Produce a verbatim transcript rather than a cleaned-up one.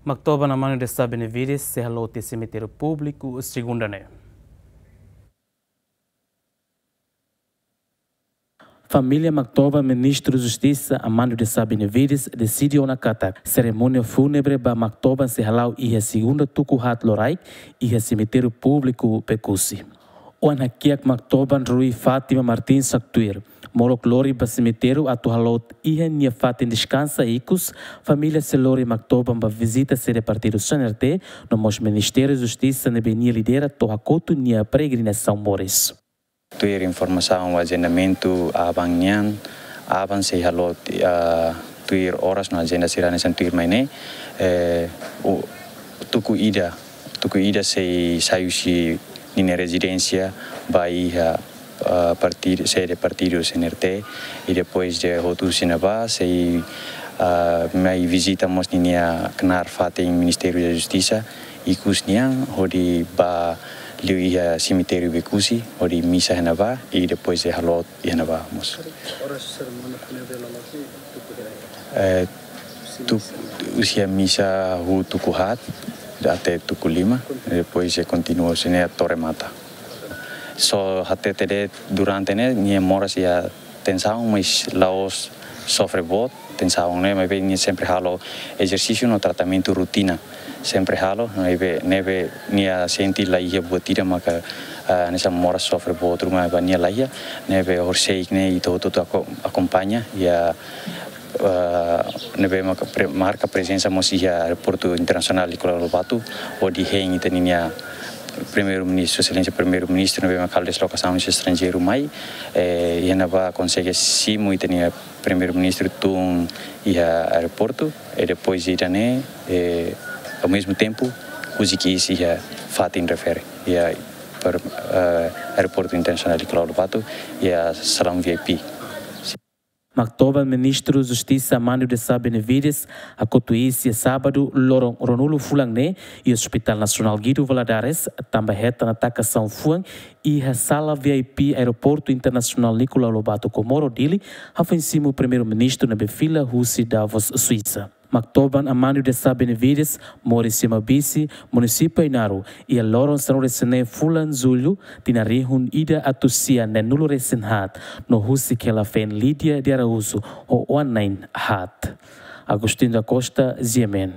Maktoban Amanio de Sá Benevides sei halo tiha semitériu públiku segunda ne'e. Família Maktoban Ministru Justisa Amanio de Sá Benevides deside ona katak serimónia fúnebre ba Maktoban sei hala'o iha segunda tuku haat loraik iha semitériu públiku Becusse. Oan hakiak Maktoban Rui Fátima Martins haktuir, molok lori ba semitériu atu halo iha nia fatin deskansa ikus, família sei lori Maktoban ba vizita sede partidu C N R T, no mós Ministériu Justisa ne'ebé nia lidera to'o hakotu nia peregrinasaun moris. Tuir informasaun ajendamentu aban nian, aban sei halo, ah, tuir oras no ajenda sira hanesan tuir mai ne'e, eh, u-, tuku ida, tuku ida sei sai husi ninia rezidénsia ba iha, ah, partidu, sede partidu C N R T, i depois de hotu husi ne'ebá sei, ah, mai vizita mós ninia knaar fatin Ministériu da Justisa, ikus nian hodi ba liu iha semitériu Becusse, hodi misa iha ne'ebá, i depois de halo iha ne'ebá mós. Eh, tu, husi misa hu tuku haat, até tuku lima, depois de kontinua husi ne'e to'o remata. Só hatete de'it durante ne'e, nia moras iha tensaun, mas la'ós sofre boot tensaun ne'e, maibé nia sempre halo ezersísiu no tratamentu rotina. Sempre halo, ne'ebé, ne'ebé nia sente la iha buat ida maka, ah, hanesan moras sofre boot ruma ba nia la iha, ne'ebé horiseik ne'e ita hotu-hotu ako-, akompaña, iha, ah, ne'ebé maka pre-, marka prezensa mós iha Aeroportu Internasionál Nicolau Lobato, hodi hein ita-nia Primeiru-Ministru, Exelénsia Primeiru-Ministru, ne'ebé maka halo deslokasaun husi estranjeiru mai, eh, iha ne'ebá konsege simu ita-nia Primeiru-Ministru tun iha aeroportu, i depois ida-ne'e, eh, ao mesmo tempo, husik iis iha fatin refere, iha per-, eh, Aeroportu Internasionál Nicolau Lobato, iha salaun V I P. Maktoban Ministru Justisa Amanio de Sá Benevides hakotu iis iha sábadu loron ruanulu fulan ne'e iha Hospital Nasionál Guido Valadares, tanba hetan atakasaun fuan iha sala V I P Aeroportu Internasionál Nicolau Lobato Comoro Dili, hafoin simu Primeiru-Ministru ne'ebé fila husi Davos, Suisa. Maktoban Amanio de Sá Benevides moris iha Mabixe, Munisípiu Ainaro, iha loron sanulu-resin-neen fulan Jullu, tinan rihun ida atus sia neenulu-resin-haat, no husik hela feen Lídia de Araújo ho oan na'in haat. Agostinho da Costa, G M N.